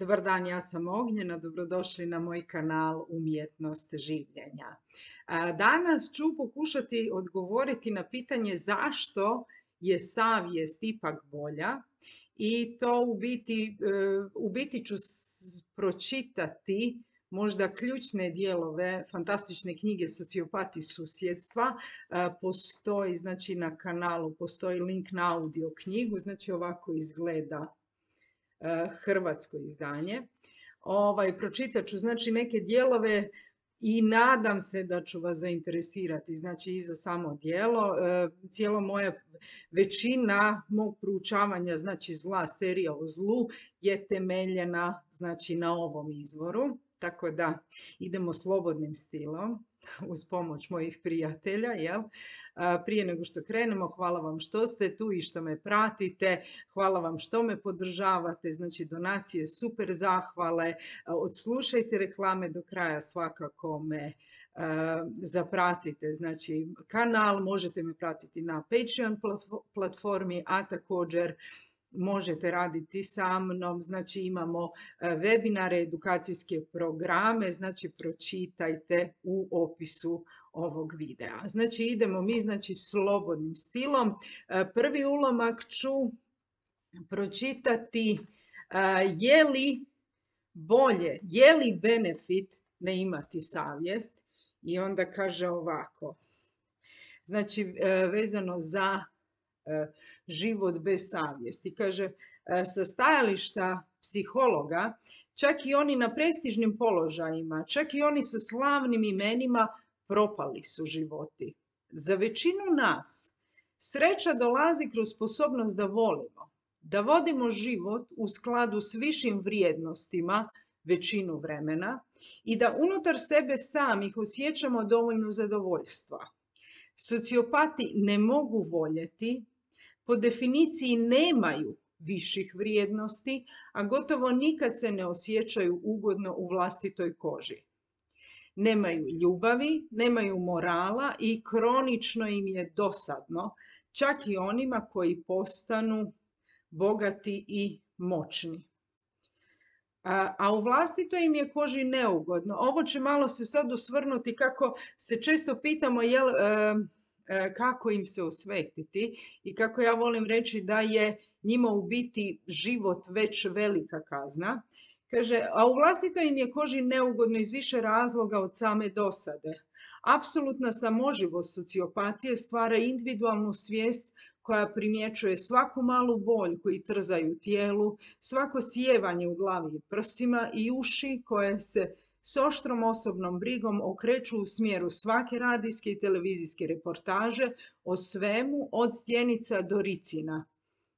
Dobar dan, ja sam Ognjena, dobrodošli na moj kanal Umjetnost življenja. Danas ću pokušati odgovoriti na pitanje zašto je savjest ipak bolja i to u biti ću pročitati možda ključne dijelove fantastične knjige Sociopati susjedstva. Postoji, znači na kanalu postoji link na audio knjigu, znači ovako izgleda hrvatsko izdanje. Pročitat ću znači neke dijelove i nadam se da ću vas zainteresirati znači i za samo djelo. Cijela moja većina mog proučavanja znači zla, serija o zlu je temeljena znači na ovom izvoru. Tako da idemo slobodnim stilom uz pomoć mojih prijatelja. Jel? Prije nego što krenemo, hvala vam što ste tu i što me pratite. Hvala vam što me podržavate. Znači donacije, super zahvale. Odslušajte reklame do kraja, svakako me zapratite. Znači kanal možete me pratiti na Patreon platformi, a također možete raditi sa mnom, znači imamo webinare, edukacijske programe, znači pročitajte u opisu ovog videa. Znači idemo mi znači slobodnim stilom. Prvi ulomak ću pročitati je li bolje, je li benefit ne imati savjest, i onda kaže ovako. Znači vezano za život bez savjesti. Kaže, sa stajališta psihologa, čak i oni na prestižnim položajima, čak i oni sa slavnim imenima propali su životi. Za većinu nas sreća dolazi kroz sposobnost da volimo, da vodimo život u skladu s višim vrijednostima većinu vremena i da unutar sebe samih osjećamo dovoljno zadovoljstva. Sociopati ne mogu voljeti, po definiciji nemaju viših vrijednosti, a gotovo nikad se ne osjećaju ugodno u vlastitoj koži. Nemaju ljubavi, nemaju morala i kronično im je dosadno, čak i onima koji postanu bogati i moćni. A u vlastitoj im je koži neugodno. Ovo će malo se sad osvrnuti kako se često pitamo kako im se osvetiti i kako ja volim reći da je njima u biti život već velika kazna. Kaže, a u vlastitoj im je koži neugodno iz više razloga od same dosade. Apsolutna samoživost sociopatije stvara individualnu svijest koja primjećuje svaku malu boljku i trzaju tijelu, svako sjevanje u glavi i prsima i uši koje se s oštrom osobnom brigom okreću u smjeru svake radijske i televizijske reportaže o svemu od stjenica do ricina.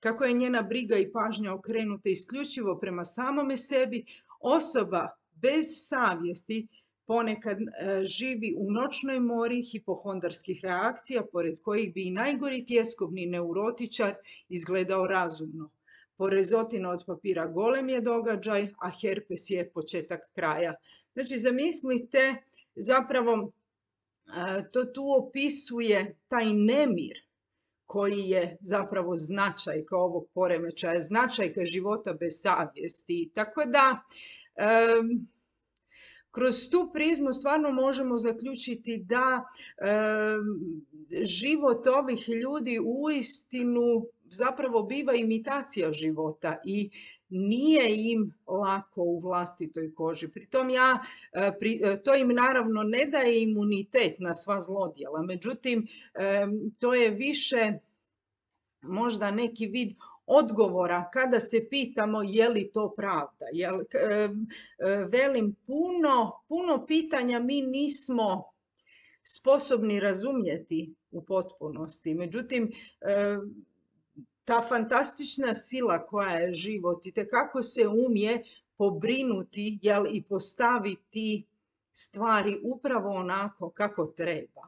Kako je njena briga i pažnja okrenuta isključivo prema samome sebi, osoba bez savjesti ponekad živi u noćnoj mori hipohondarskih reakcija, pored kojih bi i najgori tjeskovni neurotičar izgledao razumno. Porezotina od papira golem je događaj, a herpes je početak kraja. Znači, zamislite, zapravo to tu opisuje taj nemir koji je zapravo značajka ovog poremećaja, značajka života bez savjesti. Tako da, kroz tu prizmu stvarno možemo zaključiti da život ovih ljudi uistinu zapravo biva imitacija života i nije im lako u vlastitoj koži. Pritom to im naravno ne daje imunitet na sva zlodjela, međutim to je više možda neki vid odgovora kada se pitamo je li to pravda. Velim, puno pitanja mi nismo sposobni razumjeti u potpunosti. Međutim, ta fantastična sila koja je život i kako se umije pobrinuti i postaviti stvari upravo onako kako treba.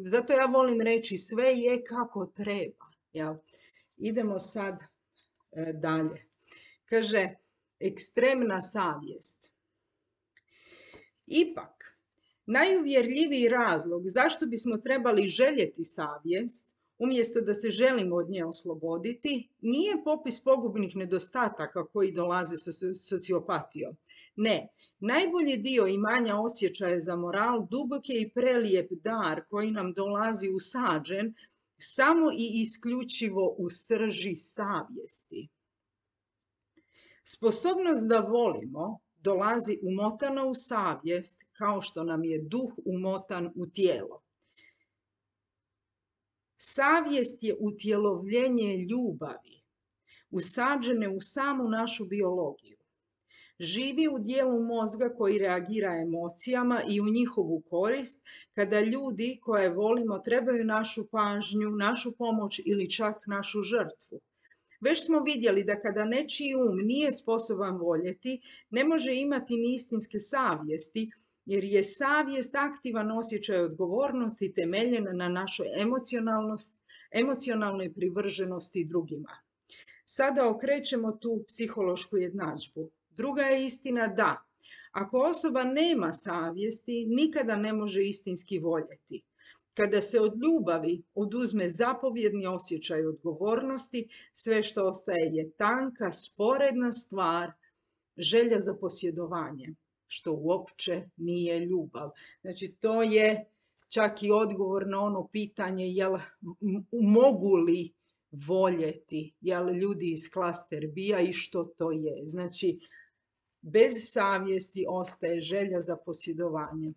Zato ja volim reći sve je kako treba. Idemo sad dalje. Kaže, ekstremna savjest. Ipak, najuvjerljiviji razlog zašto bismo trebali željeti savjest umjesto da se želimo od nje osloboditi, nije popis pogubnih nedostataka koji dolaze sa sociopatijom. Ne, najbolji dio imanja osjećaja za moral dubok je i prelijep dar koji nam dolazi usađen samo i isključivo u srži savjesti. Sposobnost da volimo dolazi umotana u savjest kao što nam je duh umotan u tijelo. Savjest je utjelovljenje ljubavi, usađene u samu našu biologiju. Živi u dijelu mozga koji reagira emocijama i u njihovu korist kada ljudi koje volimo trebaju našu pažnju, našu pomoć ili čak našu žrtvu. Već smo vidjeli da kada nečiji nije sposoban voljeti, ne može imati ni istinske savjesti, jer je savjest aktivan osjećaj odgovornosti temeljen na našoj emocionalnoj privrženosti drugima. Sada okrećemo tu psihološku jednadžbu. Druga je istina da, ako osoba nema savjesti, nikada ne može istinski voljeti. Kada se od ljubavi oduzme zapovjedni osjećaj odgovornosti, sve što ostaje je tanka, sporedna stvar, želja za posjedovanje, što uopće nije ljubav. Znači, to je čak i odgovor na ono pitanje mogu li voljeti, ljudi iz klaster B-a i što to je. Znači, bez savjesti ostaje želja za posjedovanje.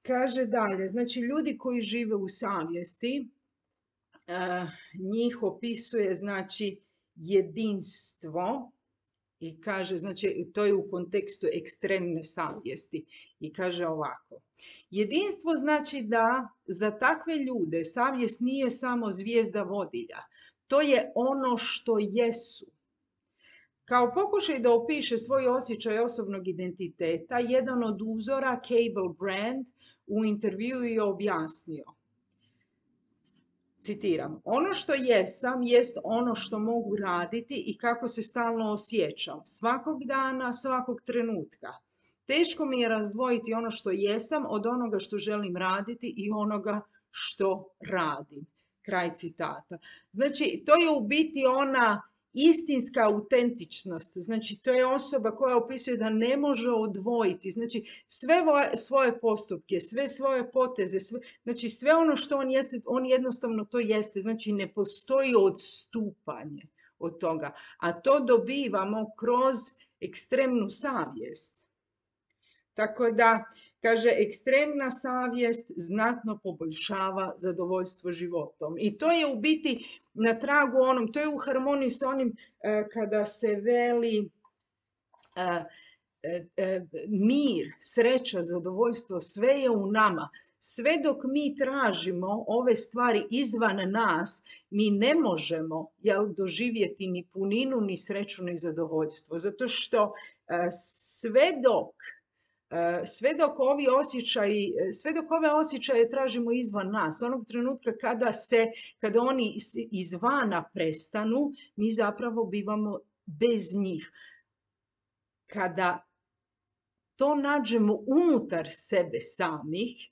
Kaže dalje, znači ljudi koji žive u savjesti, njih opisuje znači jedinstvo i kaže, znači to je u kontekstu ekstremne savjesti i kaže ovako. Jedinstvo znači da za takve ljude savjest nije samo zvijezda vodilja, to je ono što jesu. Kao pokušaj da opiše svoj osjećaj osobnog identiteta, jedan od uzora, Cable Brand, u intervjuu je objasnio. Citiram, ono što jesam jest ono što mogu raditi i kako se stalno osjećam. Svakog dana, svakog trenutka. Teško mi je razdvojiti ono što jesam od onoga što želim raditi i onoga što radim. Kraj citata. Znači, to je u biti ona istinska autentičnost, znači to je osoba koja opisuje da ne može odvojiti, znači sve svoje postupke, sve svoje poteze, znači sve ono što on jeste, on jednostavno to jeste, znači ne postoji odstupanje od toga, a to dobivamo kroz ekstremnu savjest. Tako da, kaže, ekstremna savjest znatno poboljšava zadovoljstvo životom. I to je u biti na tragu onom, to je u harmoniji s onim kada se veli mir, sreća, zadovoljstvo, sve je u nama. Sve dok mi tražimo ove stvari izvan nas, mi ne možemo doživjeti ni puninu, ni sreću, ni zadovoljstvo. Zato što sve dok ove osjećaje tražimo izvan nas, onog trenutka kada oni izvana prestanu, mi zapravo bivamo bez njih. Kada to nađemo unutar sebe samih,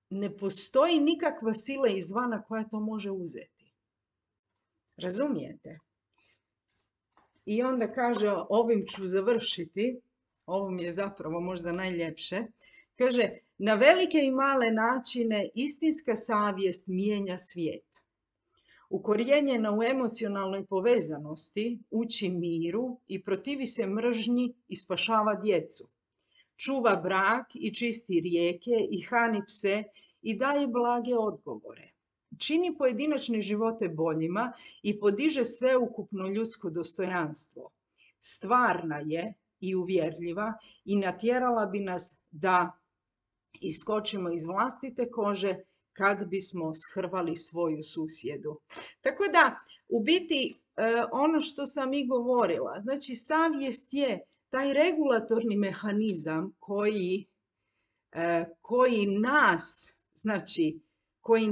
ne postoji nikakva sila izvana koja to može uzeti. Razumijete? I onda kaže, ovim ću završiti. Ovo mi je zapravo možda najljepše. Kaže, na velike i male načine istinska savjest mijenja svijet. Ukorijenjena u emocionalnoj povezanosti, uči miru i protivi se mržnji i spašava djecu. Čuva brak i čisti rijeke i hrani pse i daje blage odgovore. Čini pojedinačne živote boljima i podiže sveukupno ljudsko dostojanstvo. Stvarna je i uvjerljiva i natjerala bi nas da iskočimo iz vlastite kože kad bismo shrvali svoju susjedu. Tako da, u biti, ono što sam i govorila, znači savjest je taj regulatorni mehanizam koji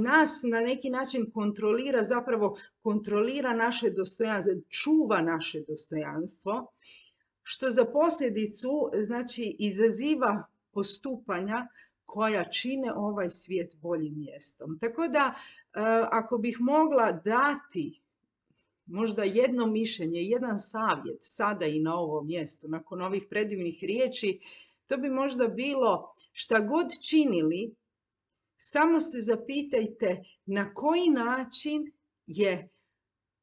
nas na neki način kontrolira, zapravo kontrolira naše dostojanstvo, čuva naše dostojanstvo, što za posljedicu znači izaziva postupanja koja čine ovaj svijet boljim mjestom. Tako da, ako bih mogla dati možda jedno mišljenje, jedan savjet sada i na ovom mjestu, nakon ovih predivnih riječi, to bi možda bilo šta god činili, samo se zapitajte na koji način je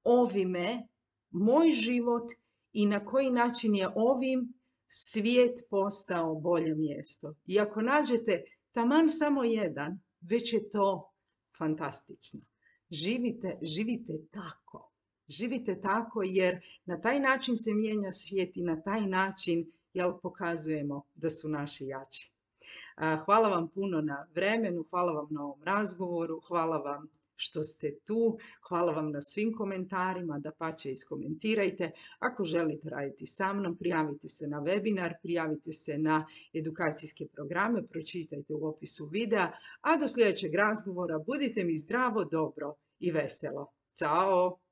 ovime moj život i na koji način je ovim svijet postao bolje mjesto. I ako nađete taman samo jedan, već je to fantastično. Živite tako. Živite tako jer na taj način se mijenja svijet i na taj način pokazujemo da su naši jači. Hvala vam puno na vremenu, hvala vam na ovom razgovoru, hvala vam što ste tu, hvala vam na svim komentarima, dapače iskomentirajte. Ako želite raditi sa mnom, prijavite se na webinar, prijavite se na edukacijske programe, pročitajte u opisu videa, a do sljedećeg razgovora budite mi zdravo, dobro i veselo. Ćao!